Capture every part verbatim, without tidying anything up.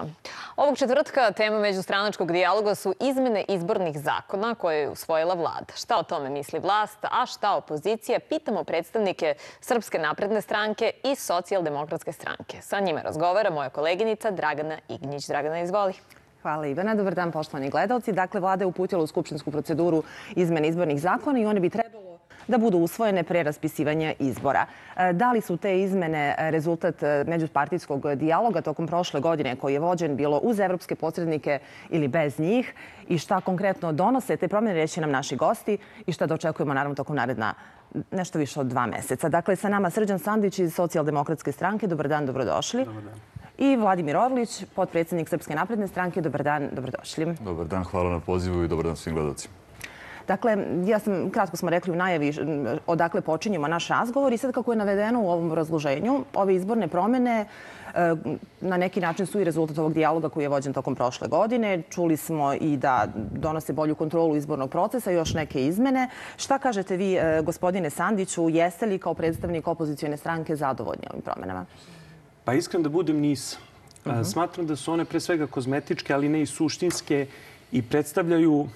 tema. Ovog četvrtka tema međustranačkog dijaloga su izmene izbornih zakona koje je usvojila vlada. Šta o tome misli vlast, a šta opozicija? Pitamo predstavnike Srpske napredne stranke i Socijaldemokratske stranke. Sa njima razgovara moja koleginica Dragana Ignjić. Dragana, izvoli. Hvala Ivana. Dobar dan, poštovani gledalci. Dakle, vlada je uputila u skupštinsku proceduru izmene izbornih zakona i one bi trebalo da budu usvojene pre raspisivanja izbora. Da li su te izmene rezultat međupartijskog dijaloga tokom prošle godine koji je vođen bilo uz evropske posrednike ili bez njih i šta konkretno donose te promjene, reći nam naši gosti i šta da očekujemo naravno tokom naredna nešto više od dva meseca. Dakle, sa nama Srđan Sandić iz Socijaldemokratske stranke. Dobar dan, dobrodošli. Dobar dan. I Vladimir Orlić, potpredsjednik Srpske napredne stranke. Dobar dan, dobrodošli. Dobar dan, hvala na pozivu i dobar dan svim gledalcima. Dakle, ja sam, kratko smo rekli u najavi odakle počinjemo naš razgovor i sad kako je navedeno u ovom razloženju, ove izborne promjene na neki način su i rezultat ovog dijaloga koji je vođen tokom prošle godine. Čuli smo i da donose bolju kontrolu izbornog procesa i još neke izmene. Šta kažete vi, gospodine Sandiću, jeste li kao predstavnik opozicijone stranke zadovoljni ovim promjenama? Pa iskreno da budem nisam. Smatram da su one pre svega kozmetičke, ali ne i suštinske i predstavljaju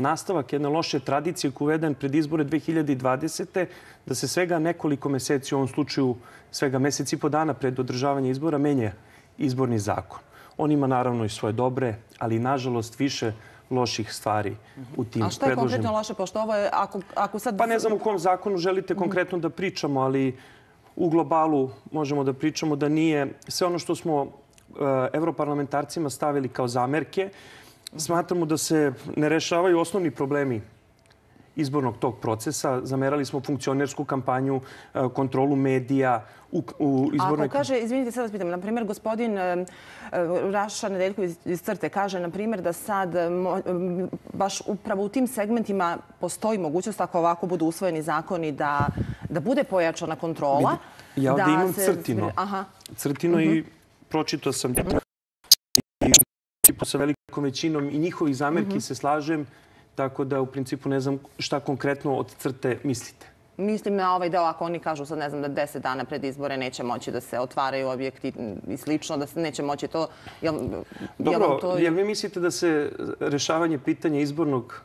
nastavak jedne loše tradicije koji je uveden pred izbore dve hiljade dvadesete. da se svega nekoliko meseci, u ovom slučaju svega meseci i po dana pred održavanje izbora, menja izborni zakon. On ima naravno i svoje dobre, ali nažalost više loših stvari u tim predloženim. A šta je konkretno loše, pošto ovo je, ako, ako sad... Pa ne znam u kom zakonu želite konkretno da pričamo, ali u globalu možemo da pričamo da nije sve ono što smo evroparlamentarcima stavili kao zamerke. Smatramo da se ne rešavaju osnovni problemi izbornog tog procesa. Zamerali smo funkcionersku kampanju, kontrolu medija u, u izbornoj... Ako kaže, izvinite, sad vas pitam, na primjer, gospodin Raša Nedeljković iz Crte kaže, na primjer, da sad baš upravo u tim segmentima postoji mogućnost, ako ovako budu usvojeni zakoni, da, da bude pojačana kontrola. Ja ovdje imam se... crtino. Aha. Crtino uh-huh. i pročitao sam i sa velikom većinom i njihovih zamerki uh-huh. se slažem, tako da u principu ne znam šta konkretno od crte mislite. Mislim na ovaj deo, ako oni kažu sad, ne znam, da deset dana pred izbore neće moći da se otvaraju objekti i slično, da se neće moći to... Jel, Dobro, jel, to... jel vi mislite da se rešavanje pitanja izbornog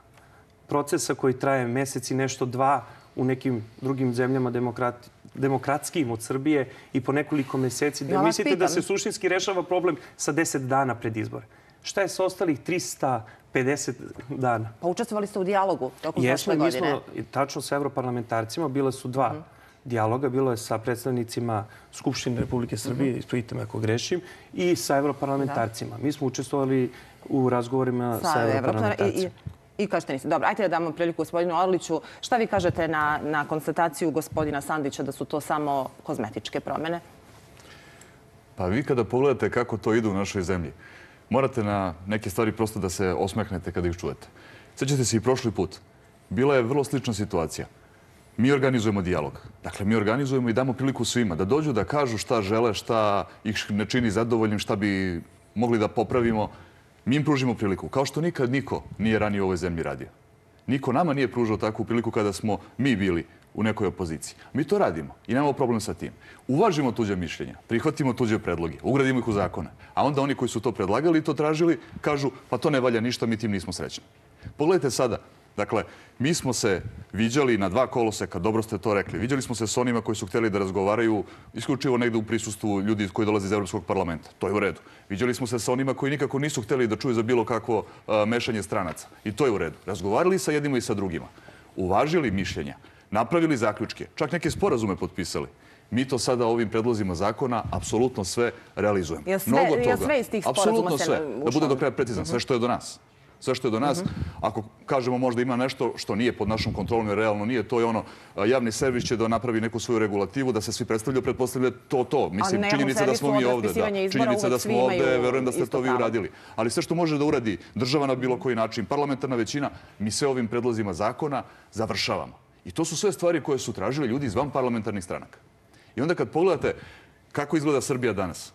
procesa koji traje mesec i nešto dva u nekim drugim zemljama demokrati, demokratskijim od Srbije i po nekoliko meseci, da ja mislite pitam. da se suštinski rešava problem sa deset dana pred izbore? Šta je sa ostalih trista pedeset dana? Pa učestvovali ste u dijalogu tokom prošle godine. Jesmo, mi smo tačno sa evroparlamentarcima. Bila su dva uh-huh. dijaloga. Bilo je sa predstavnicima Skupštine Republike Srbije, uh-huh. ispravite me ako grešim, i sa evroparlamentarcima. Da. Mi smo učestvovali u razgovorima sa, sa evroparlamentarcima. I, i kažete niste. Dobro, ajte da damo priliku gospodinu Orliću. Šta vi kažete na, na konstataciju gospodina Sandića da su to samo kozmetičke promjene? Pa vi kada pogledate kako to ide u našoj zemlji, morate na neke stvari prosto da se osmehnete kada ih čujete. Sjećate se i prošli put. Bila je vrlo slična situacija. Mi organizujemo dijalog. Dakle, mi organizujemo i damo priliku svima da dođu da kažu šta žele, šta ih ne čini zadovoljnim, šta bi mogli da popravimo. Mi im pružimo priliku. Kao što nikad niko nije ranije u ovoj zemlji radio. Niko nama nije pružao takvu priliku kada smo mi bili u nekoj opoziciji. Mi to radimo i nemamo problem sa tim. Uvažimo tuđe mišljenja, prihvatimo tuđe predloge, ugradimo ih u zakone. A onda oni koji su to predlagali i to tražili kažu pa to ne valja ništa, mi tim nismo srećni. Pogledajte sada. Dakle, mi smo se viđali na dva koloseka, dobro ste to rekli. Viđali smo se s onima koji su htjeli da razgovaraju isključivo negde u prisustvu ljudi koji dolaze iz Evropskog parlamenta. To je u redu. Viđali smo se sa onima koji nikako nisu htjeli da čuju za bilo kakvo uh, mešanje stranaca. I to je u redu. Razgovarali sa jednima i sa drugima. Uvažili mišljenja. Napravili zaključke, čak neke sporazume potpisali. Mi to sada ovim predlozima zakona apsolutno sve realizujemo. Ja sve, Mnogo toga. Ja sve iz tih sporazuma se sve. Da bude do kraja precizan, sve što je do nas. Sve što je do nas, ako kažemo možda ima nešto što nije pod našom kontrolom, jer realno nije, to je ono, javni servis će da napravi neku svoju regulativu, da se svi predstavljaju, pretpostavlja to to. Mislim, činjenica da smo mi ovde, da. Činjenica da smo ovde, verujem da ste to vi uradili. Ali sve što može da uradi država na bilo koji način, parlamentarna većina, mi sve ovim predlozima zakona završavamo. I to su sve stvari koje su tražili ljudi iz vanparlamentarnih stranaka. I onda kad pogledate kako izgleda Srbija danas,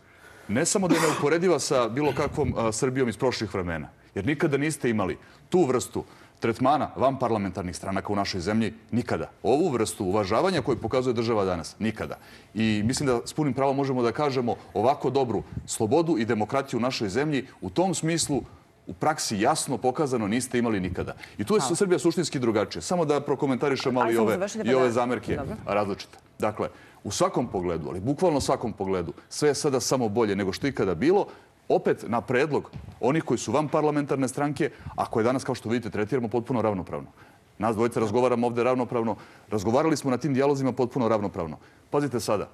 ne samo da je neuporediva sa bilo kakvom Srbijom iz prošlih vremena, jer nikada niste imali tu vrstu tretmana vanparlamentarnih stranaka u našoj zemlji nikada. Ovu vrstu uvažavanja koju pokazuje država danas nikada. I mislim da s punim pravom možemo da kažemo ovako dobru slobodu i demokratiju u našoj zemlji u tom smislu u praksi jasno pokazano niste imali nikada. I tu je Srbija suštinski drugačija. Samo da prokomentarišem malo i ove, i ove zamerke različite. Dakle, u svakom pogledu, ali bukvalno svakom pogledu, sve je sada samo bolje nego što ikada bilo, opet na predlog onih koji su van parlamentarne stranke, a koje danas, kao što vidite, tretiramo potpuno ravnopravno. Nas dvojica razgovaramo ovde ravnopravno. Razgovarali smo na tim dijalozima potpuno ravnopravno. Pazite sada,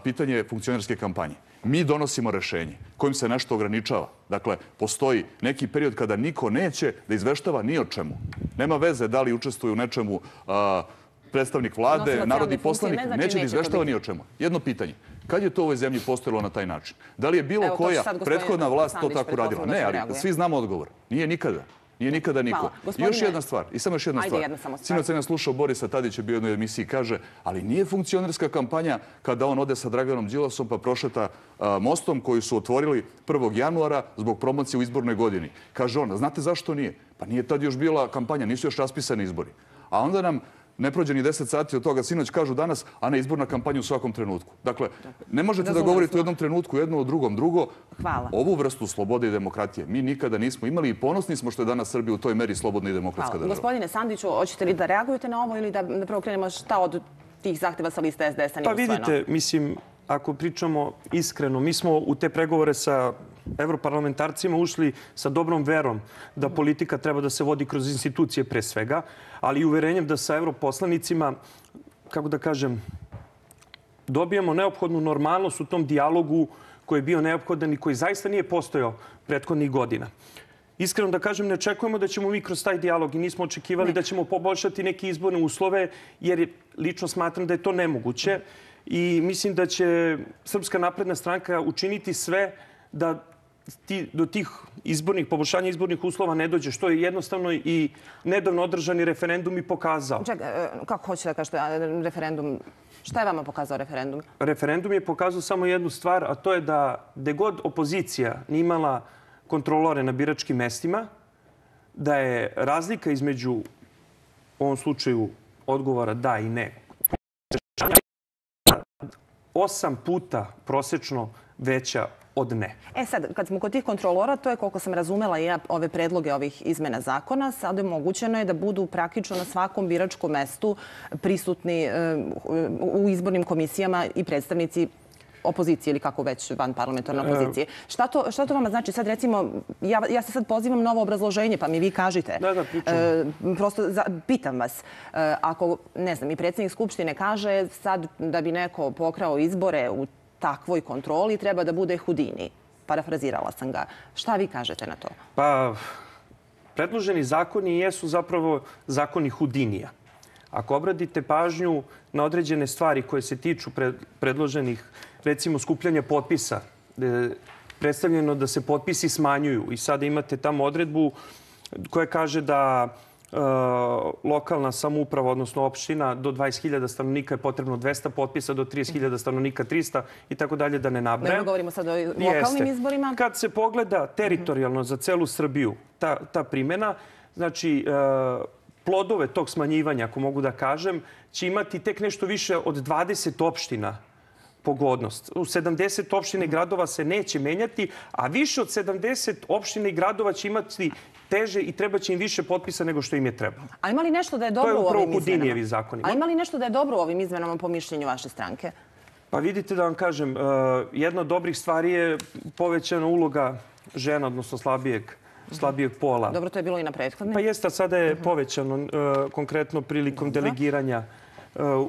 pitanje funkcionerske kampanje. Mi donosimo rešenje kojim se nešto ograničava. Dakle, postoji neki period kada niko neće da izveštava ni o čemu. Nema veze da li učestvuju u nečemu predstavnik vlade, narodni poslanik, neće da izveštava ni o čemu. Jedno pitanje. Kad je to u ovoj zemlji postojalo na taj način? Da li je bilo koja prethodna vlast to tako radila? Ne, ali svi znamo odgovor. Nije nikada. Nije nikada niko. I još jedna stvar. I samo još jedna stvar. Sinoć sam ja slušao Borisa Tadića, bio u jednoj emisiji, kaže, ali nije funkcionerska kampanja kada on ode sa Draganom Đilasom pa prošeta mostom koji su otvorili prvog januara zbog promocije u izbornoj godini. Kaže on, znate zašto nije? Pa nije tad još bila kampanja, nisu još raspisani izbori. A onda nam ne prođe ni deset sati od toga, sinoć kažu danas, a ne izborna kampanja u svakom trenutku. Dakle, ne možete da govorite u jednom trenutku jedno, u drugom drugo. Ovu vrstu slobode i demokratije mi nikada nismo imali i ponosni smo što je danas Srbija u toj meri slobodna i demokratska država. Gospodine Sandiću, hoćete li da reagujete na ovo ili da prvo krenemo šta od tih zahteva sa liste S D S-a nije usvojeno? Pa vidite, mislim, ako pričamo iskreno, mi smo u te pregovore sa evroparlamentarcima ušli sa dobrom verom da politika treba da se vodi kroz institucije pre svega, ali i uverenjem da sa evroposlanicima, kako da kažem, dobijamo neophodnu normalnost u tom dijalogu koji je bio neophodan i koji zaista nije postojao prethodnih godina. Iskreno da kažem, ne očekujemo da ćemo mi kroz taj dijalog i nismo očekivali da ćemo poboljšati neke izborne uslove, jer lično smatram da je to nemoguće i mislim da će Srpska napredna stranka učiniti sve da do tih izbornih, poboljšanja izbornih uslova ne dođe, što je jednostavno i nedavno održani referendum i pokazao. Čekaj, kako hoćete da kažete referendum? Šta je vama pokazao referendum? Referendum je pokazao samo jednu stvar, a to je da gde god opozicija nije imala kontrolore na biračkim mestima, da je razlika između, u ovom slučaju, odgovora da i ne, osam puta prosečno veća od ne. E sad, kad smo kod tih kontrolora, to je, koliko sam razumela i ja, ove predloge ovih izmena zakona, sad je mogućeno je da budu praktično na svakom biračkom mestu prisutni u izbornim komisijama i predstavnici opozicije ili kako već van parlamentarne opozicije. Šta to, šta to vama znači? Sad recimo, ja, ja se sad pozivam na ovo obrazloženje, pa mi vi kažite. Da, da, pričam. E, prosto za, pitam vas, e, ako, ne znam, i predsjednik Skupštine kaže sad da bi neko pokrao izbore u takvoj kontroli treba da bude Hudini. Parafrazirala sam ga. Šta vi kažete na to? Pa, predloženi zakoni jesu zapravo zakoni Hudinija. Ako obradite pažnju na određene stvari koje se tiču predloženih, recimo skupljanja potpisa, predstavljeno da se potpisi smanjuju i sada imate tamo odredbu koja kaže da lokalna samouprava, odnosno opština, do dvadeset hiljada stanovnika je potrebno dvesta potpisa, do trideset hiljada stanovnika trista i tako dalje, da ne nabrajam. Ne govorimo sad o lokalnim izborima. Kad se pogleda teritorijalno za celu Srbiju ta, ta primjena, znači plodove tog smanjivanja, ako mogu da kažem, će imati tek nešto više od dvadeset opština pogodnost. U sedamdeset opština i gradova se neće menjati, a više od sedamdeset opština i gradova će imati teže i treba će im više potpisa nego što im je trebalo. A ima li nešto da je dobro u ovim izmenama? Zakonima. A ima li nešto da je dobro u ovim izmenama po mišljenju vaše stranke? Pa vidite da vam kažem, jedna od dobrih stvari je povećana uloga žena, odnosno slabijeg slabijeg pola. Dobro, to je bilo i na prethodne. Pa jeste, a sada je povećano konkretno prilikom delegiranja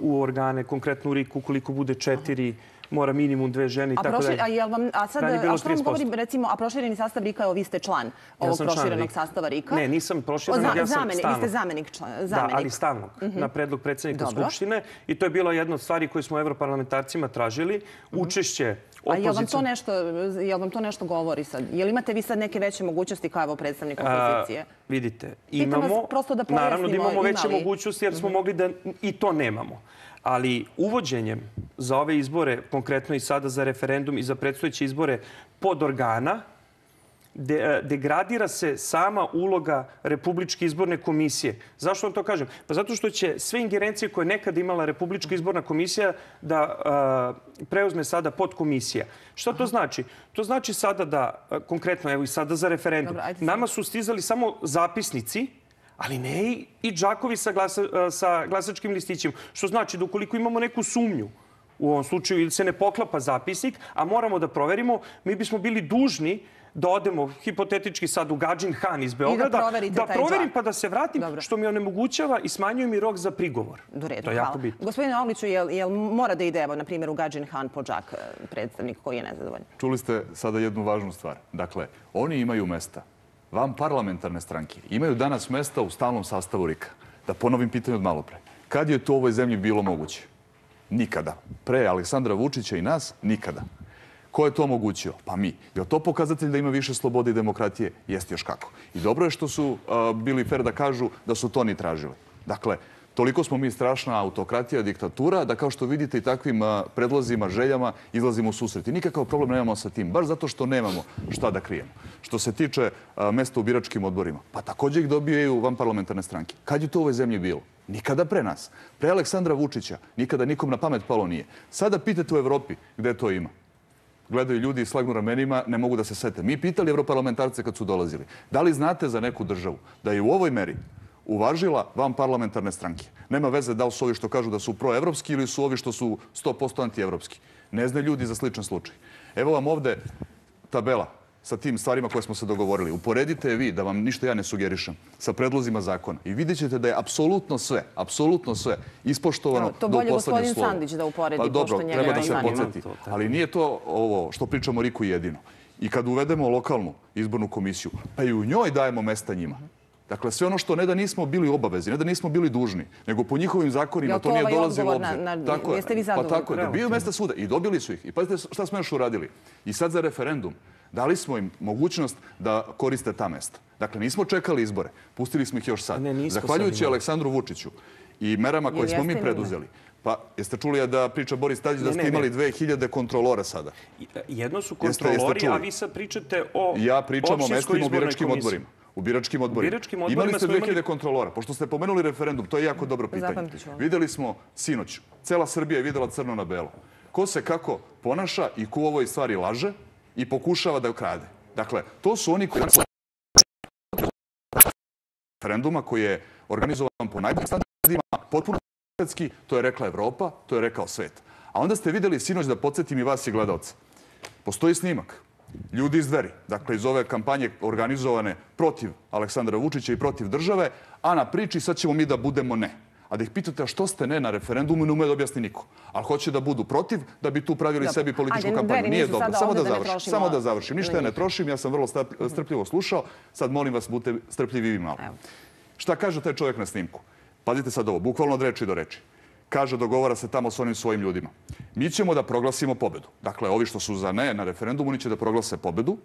u organe, konkretno u R I K, ukoliko bude četiri, mora minimum dve žene i tako dalje. A, a, a sad, a što vam govori, recimo, a prošireni sastav R I K-a, evo vi ste član ovog proširenog sastava R I K-a? Ne, nisam proširen, ja sam stalnog. Vi ste zamenik. Da, ali stalnog, na predlog predsjednika Skupštine. I to je bila jedna od stvari koje smo evroparlamentarcima tražili. Učešće opozicije. A je li vam to nešto, je li vam to nešto govori sad? Je li imate vi sad neke veće mogućnosti kao evo predstavnik opozicije? Vidite, imamo, naravno da imamo veće mogućnosti jer smo mogli da i to nemamo. Ali uvođenjem za ove izbore, konkretno i sada za referendum i za predstojeće izbore pod organa, de, degradira se sama uloga Republičke izborne komisije. Zašto vam to kažem? Pa zato što će sve ingerencije koje je nekada imala Republička izborna komisija da a, preuzme sada podkomisija. Šta to znači? To znači sada da, konkretno, evo i sada za referendum, Dobro, nama su stizali samo zapisnici, ali ne i džakovi sa, glasa, sa glasačkim listićima. Što znači da ukoliko imamo neku sumnju, u ovom slučaju ili se ne poklapa zapisnik, a moramo da proverimo, mi bismo bili dužni da odemo hipotetički sad u Gadžin Han iz Beograda, da, da proverim pa da se vratim, Dobro. Što mi onemogućava i smanjuje mi rok za prigovor. Do redu, to je hvala. jako bitno. Gospodine Ogliću, jel, jel mora da ide, evo, na primjer, u Gadžin Han po džak predstavnik koji je nezadovoljan? Čuli ste sada jednu važnu stvar. Dakle, oni imaju mesta. Vam parlamentarne stranke imaju danas mesta u stalnom sastavu R I K-a. Da ponovim pitanje od malo pre. Kad je to u ovoj zemlji bilo moguće? Nikada. Pre Aleksandra Vučića i nas, nikada. Ko je to omogućio? Pa mi. Je li to pokazatelj da ima više slobode i demokratije? Jeste još kako. I dobro je što su uh, bili fer da kažu da su to ni tražili. Dakle, toliko smo mi strašna autokratija, diktatura, da kao što vidite i takvim uh, predlozima, željama izlazimo u susret. I nikakav problem nemamo sa tim, baš zato što nemamo šta da krijemo. Što se tiče uh, mesta u biračkim odborima, pa također ih dobijaju vanparlamentarne stranke. Kad je to u ovoj zemlji bilo? Nikada pre nas. Pre Aleksandra Vučića nikada nikom na pamet palo nije. Sada pitate u Evropi gde to ima. Gledaju ljudi i slagnu ramenima, ne mogu da se sete. Mi pitali evroparlamentarce kad su dolazili. Da li znate za neku državu da je u ovoj meri uvažila vanparlamentarne stranke? Nema veze da li su ovi što kažu da su proevropski ili su ovi što su sto posto antievropski. Ne znaju ljudi za sličan slučaj. Evo vam ovde tabela sa tim stvarima koje smo se dogovorili. Uporedite je vi, da vam ništa ja ne sugerišem, sa predlozima zakona. I vidjet ćete da je apsolutno sve, apsolutno sve ispoštovano do poslednjeg slova. To bolje gospodin Sandić da uporedi, pa, dobro, pošto njega treba da se zanima. podsjeti. Ali nije to ovo što pričamo o R I K-u jedino. I kad uvedemo lokalnu izbornu komisiju, pa i u njoj dajemo mesta njima. Dakle, sve ono što ne da nismo bili obavezi, ne da nismo bili dužni, nego po njihovim zakonima to nije dolazilo u obzir. Tako je. Jeste vi zadovoljni? Pa tako je, dobiju mesta svuda i dobili su ih. I pazite šta smo još uradili. I sad za referendum dali smo im mogućnost da koriste ta mesta. Dakle, nismo čekali izbore, pustili smo ih još sad. Zahvaljujući Aleksandru Vučiću i merama koje smo mi preduzeli. Pa, jeste čuli da priča Boris Tadić da ste imali dve hiljade kontrolora sada? Jedno su kontrolori, a vi sad pričate o ja pričam o mestima u biračkim odborima. U biračkim odborima. Imali ste dve hiljade kontrolora. Pošto ste pomenuli referendum, to je jako dobro pitanje. Videli smo sinoć, cela Srbija je videla crno na belo. Ko se kako ponaša i ko u ovoj stvari laže i pokušava da krade. Dakle, to su oni koji referenduma koji je organizovan po najboljim standardima, potpuno svetski, to je rekla Evropa, to je rekao svet. A onda ste videli sinoć, da podsjetim i vas i gledalca. Postoji snimak. Ljudi iz Dveri, dakle iz ove kampanje organizovane protiv Aleksandra Vučića i protiv države, a na priči sad ćemo mi da budemo ne. A da ih pitate, a što ste ne na referendumu, ne ume da objasni niko. Ali hoće da budu protiv, da bi tu pravili sebi političku kampanju. Nije dobro. Samo da završim. Samo da završim. Ništa ja ne trošim, ja sam vrlo strpljivo slušao. Sad molim vas, budite strpljivi i vi malo. Šta kaže taj čovjek na snimku? Pazite sad ovo, bukvalno od reči do reči. Kaže, dogovara se tamo s onim svojim ljudima. Mi ćemo da proglasimo pobedu. Dakle, ovi što su za ne na referendumu, oni će da proglase pobedu,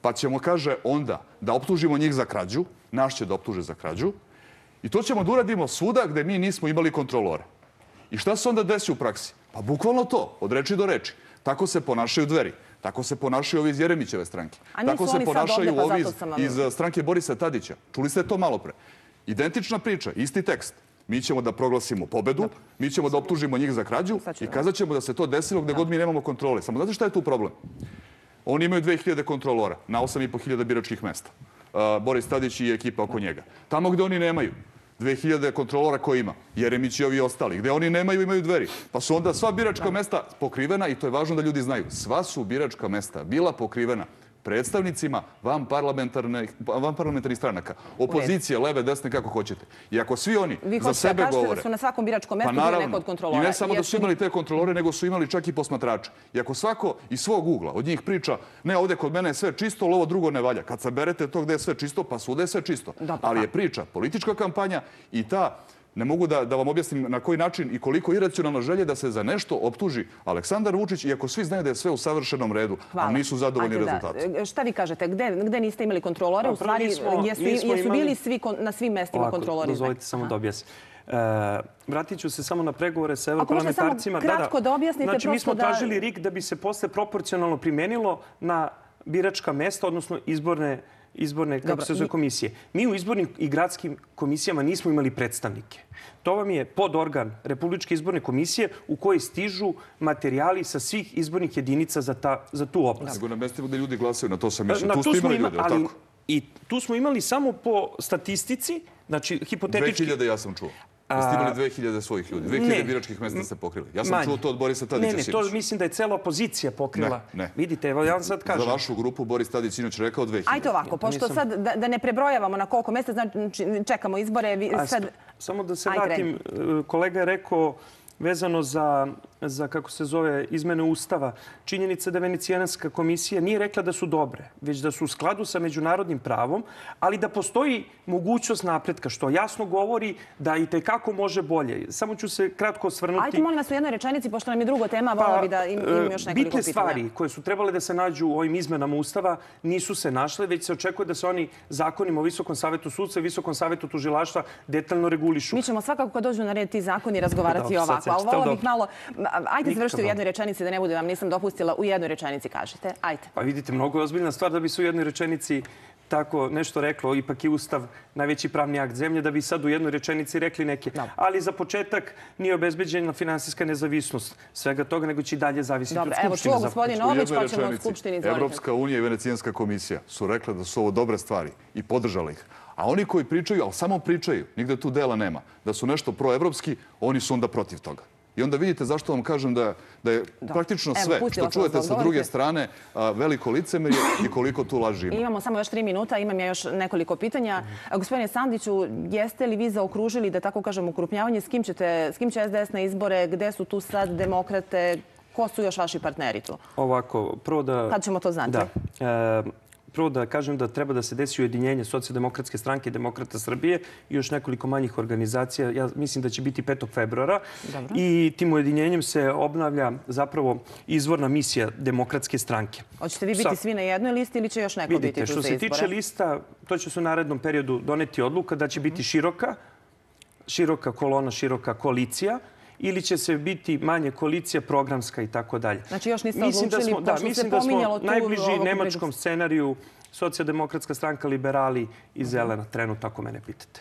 pa ćemo, kaže, onda da optužimo njih za krađu, naš će da optuže za krađu, i to ćemo da uradimo svuda gde mi nismo imali kontrolore. I šta se onda desi u praksi? Pa bukvalno to, od reči do reči. Tako se ponašaju Dveri. Tako se ponašaju ovi iz Jeremićeve stranke. Tako se ponašaju ovi iz stranke Borisa Tadića. Čuli ste to malo pre. Identična priča, isti tekst. Mi ćemo da proglasimo pobedu, mi ćemo da optužimo njih za krađu i kazat ćemo da se to desilo gde god mi nemamo kontrole. Samo znate šta je tu problem? Oni imaju dve hiljade kontrolora na osam i po hiljada biračkih mesta. Boris Tadić i ekipa oko njega. Tamo gde oni nemaju dve hiljade kontrolora koji ima, Jeremić i ovi ostali, gde oni nemaju, imaju Dveri. Pa su onda sva biračka mesta pokrivena, i to je važno da ljudi znaju, sva su biračka mesta bila pokrivena predstavnicima vanparlamentarnih stranaka. Opozicije, leve, desne, kako hoćete. I ako svi oni za sebe govore... Vi hoćete da kažete da su na svakom biračkom mestu bili neko od kontrolora. I ne samo da su imali te kontrolore, nego su imali čak i posmatrače. I ako svako iz svog ugla od njih priča, ne, ovdje kod mene je sve čisto, ali ovo drugo ne valja. Kad saberete to gde je sve čisto, pa svuda je sve čisto. Ali je priča politička kampanja i ta... Ne mogu da, da vam objasnim na koji način i koliko iracionalno želje da se za nešto optuži Aleksandar Vučić, iako svi znaju da je sve u savršenom redu, ali nisu zadovoljni rezultati. Šta vi kažete? Gde, gde niste imali kontrolore? U stvari, jesu, jesu bili svi na svim mestima kontrolori? Dozvolite samo da objasnim. Uh, vratit ću se samo na pregovore sa evroparlamentarcima. Ako možete samo kratko da objasnite. Znači, mi smo tražili R I K da bi se posle proporcionalno primenilo na biračka mesta, odnosno izborne izborne kako se zove komisije. Mi u izbornim i gradskim komisijama nismo imali predstavnike. To vam je podorgan Republičke izborne komisije u kojoj stižu materijali sa svih izbornih jedinica za, ta, za tu oblast. Nego na mestima gde ljudi glasaju, na to sam mislio. Tu ste imali ljudi, ali tako? I tu smo imali samo po statistici, znači hipotetički... dve hiljade ja sam čuo. Da ste imali dve hiljade svojih ljudi. dve hiljade biračkih mesta ste pokrili. Ja sam čuo to od Borisa Tadića sinoć. Ne, ne, to mislim da je cela opozicija pokrila. Ne, ne. Vidite, evo ja vam sad kažem. Za vašu grupu Boris Tadić sinoć rekao dve hiljade. Ajde ovako, pošto sad da ne prebrojavamo na koliko mesta, znači čekamo izbore. Samo da se vratim, kolega je rekao vezano za, za, kako se zove, izmene Ustava. Činjenica da Venecijanska komisija nije rekla da su dobre, već da su u skladu sa međunarodnim pravom, ali da postoji mogućnost napretka, što jasno govori da i tekako može bolje. Samo ću se kratko osvrnuti... Ajde, molim vas u jednoj rečenici, pošto nam je druga tema, volila bi da im, im još nekoliko pitanja. Bitne stvari koje su trebale da se nađu u ovim izmenama Ustava nisu se našle, već se očekuje da se oni zakonima o Visokom savetu sudstva i Visokom savetu tužilaštva detaljno regulišu. Mi ćemo svakako kad dođu na red ti zakoni razgovarati ovako. Ali volila bih malo... Ajde, završite u jednoj rečenici, da ne bude vam nisam dopustila. U jednoj rečenici kažete. Ajde. Pa vidite, mnogo je ozbiljna stvar da bi se u jednoj rečenici tako nešto reklo. Ipak je Ustav najveći pravni akt zemlje, da bi sad u jednoj rečenici rekli neke. Ali za početak nije obezbeđena finansijska nezavisnost svega toga, nego će i dalje zavisiti od Skupštine. Evo, čuo gospodin Orlić, pa ćemo od Skupštine izvoliti. Evropska unija i Venecijanska komisija su rekla da su ovo dobre stvari i podržali ih. A oni koji pričaju, ali samo pričaju, nigde tu dela nema, da su nešto proevropski, oni su onda protiv toga. I onda vidite zašto vam kažem da, da je praktično sve što čujete sa druge strane veliko licemerje i koliko tu laži ima. Imamo samo još tri minuta, imam ja još nekoliko pitanja. Gospodine Sandiću, jeste li vi zaokružili, da tako kažem, ukrupnjavanje? S kim, ćete, s kim će S D S na izbore? Gde su tu sad demokrate? Ko su još vaši partneri tu? Ovako, prvo da... Kad ćemo to znati? Da. Prvo da kažem da treba da se desi ujedinjenje Socijaldemokratske stranke i Demokrata Srbije i još nekoliko manjih organizacija. Ja mislim da će biti petog februara. I tim ujedinjenjem se obnavlja zapravo izvorna misija Demokratske stranke. Hoćete vi biti svi na jednoj listi ili će još neko biti tu za izbore? Što se tiče lista, to će se u narednom periodu doneti odluka da će biti široka, široka kolona, široka koalicija, ili će se biti manje koalicija, programska i tako dalje. Znači još niste odlučili, pošto se pominjalo tu... Najbliži nemačkom scenariju Socijaldemokratska stranka, liberali i zelena, trenutno, ako mene pitate.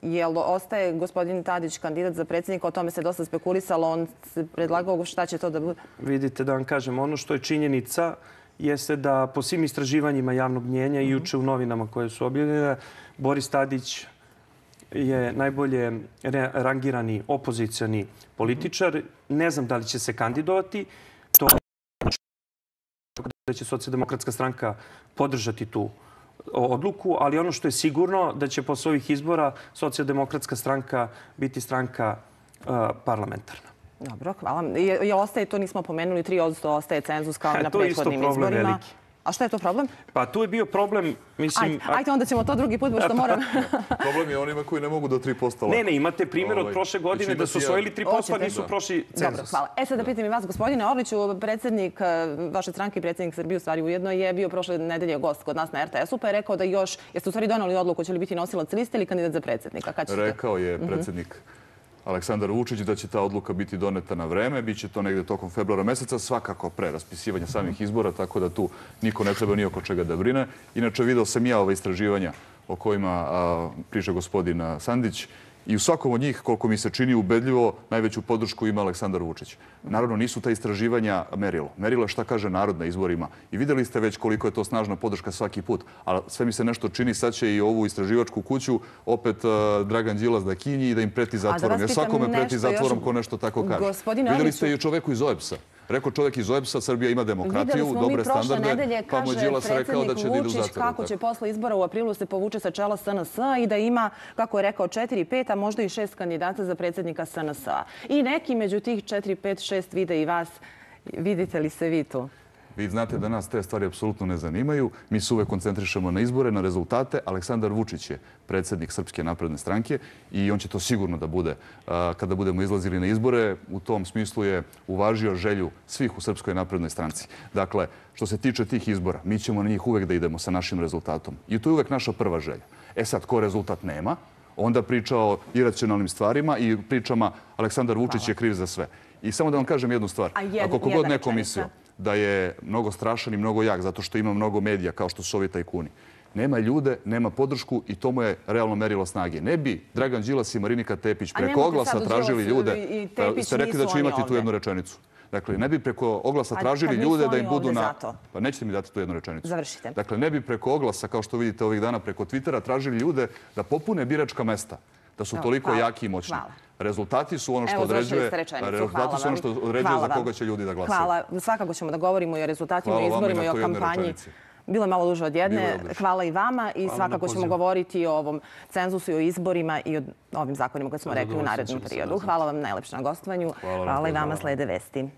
Jel ostaje gospodin Tadić kandidat za predsjednika? O tome se dosta spekulisalo. On se predlagao šta će to da bude? Vidite, da vam kažem, ono što je činjenica jeste da po svim istraživanjima javnog mnjenja i juče u novinama koje su objavljene, Boris Tadić je najbolje rangirani opozicioni političar. Ne znam da li će se kandidovati. To da će Socijaldemokratska stranka podržati tu odluku, ali ono što je sigurno da će posle ovih izbora Socijaldemokratska stranka biti stranka parlamentarna. Dobro, hvala. Jel ostaje, to nismo pomenuli, tri odsto ostaje cenzus kao i na prethodnim izborima. A šta je to problem? Pa tu je bio problem, mislim... Ajde, onda ćemo to drugi put, pošto moram... Problem je onima koji ne mogu do tri posto lako. Ne, ne, imate primjer od prošle godine da su osvojili tri posto, a nisu prošli cenzus. Dobro, hvala. E sad da pitam i vas, gospodine Orliću, predsjednik vaše stranke i predsjednik Srbije, u stvari ujedno, je bio prošle nedelje gost kod nas na R T S-u, pa je rekao da još... Jeste u stvari donali odluku, će li biti nosilac liste ili kandidat za predsjednika? Rekao je predsjednik Aleksandar Vučić da će ta odluka biti doneta na vreme. Biće to negde tokom februara meseca, svakako pre raspisivanja samih izbora, tako da tu niko ne treba ni oko čega da brine. Inače, video sam ja ove istraživanja o kojima priča gospodin Sandić i u svakom od njih, koliko mi se čini ubedljivo, najveću podršku ima Aleksandar Vučić. Naravno, nisu ta istraživanja merilo. Merilo je šta kaže narod na izborima. I videli ste već koliko je to snažna podrška svaki put. Ali sve mi se nešto čini, sad će i ovu istraživačku kuću opet Dragan Đilas da kinji i da im preti zatvorom. Jer svakome preti zatvorom ko nešto tako kaže. Videli ste i čoveku iz O E B S-a. Rekao čovjek iz O E B S-a, Srbija ima demokratiju, dobre standarde, pa mu je Đilas rekao da će da idu u zatvor. Kako će posle izbora u aprilu se povuče sa čela S N S-a i da ima, kako je rekao, četiri, pet, a možda i šest kandidata za predsjednika S N S-a. I neki među tih četiri, pet, šest vide i vas. Vidite li se vi tu? Vi znate da nas te stvari apsolutno ne zanimaju. Mi se uvek koncentrišemo na izbore, na rezultate. Aleksandar Vučić je predsjednik Srpske napredne stranke i on će to sigurno da bude kada budemo izlazili na izbore. U tom smislu je uvažio želju svih u Srpskoj naprednoj stranci. Dakle, što se tiče tih izbora, mi ćemo na njih uvek da idemo sa našim rezultatom. I to je uvek naša prva želja. E sad, ko rezultat nema, onda priča o iracionalnim stvarima i pričama Aleksandar Vučić je kriv za sve. I samo da vam kažem jednu stvar. Ako kogod neko mislio, da je mnogo strašan i mnogo jak zato što ima mnogo medija kao što su ovi tajkuni. Nema ljude, nema podršku i to mu je realno merilo snage. Ne bi Dragan Đilas i Marinika Tepić preko oglasa tražili ljude. Ste rekli da ću imati tu jednu rečenicu. Dakle, ne bi preko oglasa tražili ljude da im budu na... Pa nećete mi dati tu jednu rečenicu. Završite. Dakle, ne bi preko oglasa, kao što vidite ovih dana, preko Twittera tražili ljude da popune biračka mesta, da su toliko jaki i moćni. Rezultati su ono što određuje, rezultati su ono što određuje za koga će ljudi da glasaju. Hvala. Svakako ćemo da govorimo i o rezultatima, i izborima i o kampanji. Bilo je malo duže od jedne. Hvala i vama i svakako ćemo govoriti o ovom cenzusu i o izborima i o ovim zakonima koje smo rekli u narednom periodu. Hvala vam najlepše na gostovanju. Hvala i vama, slede vesti.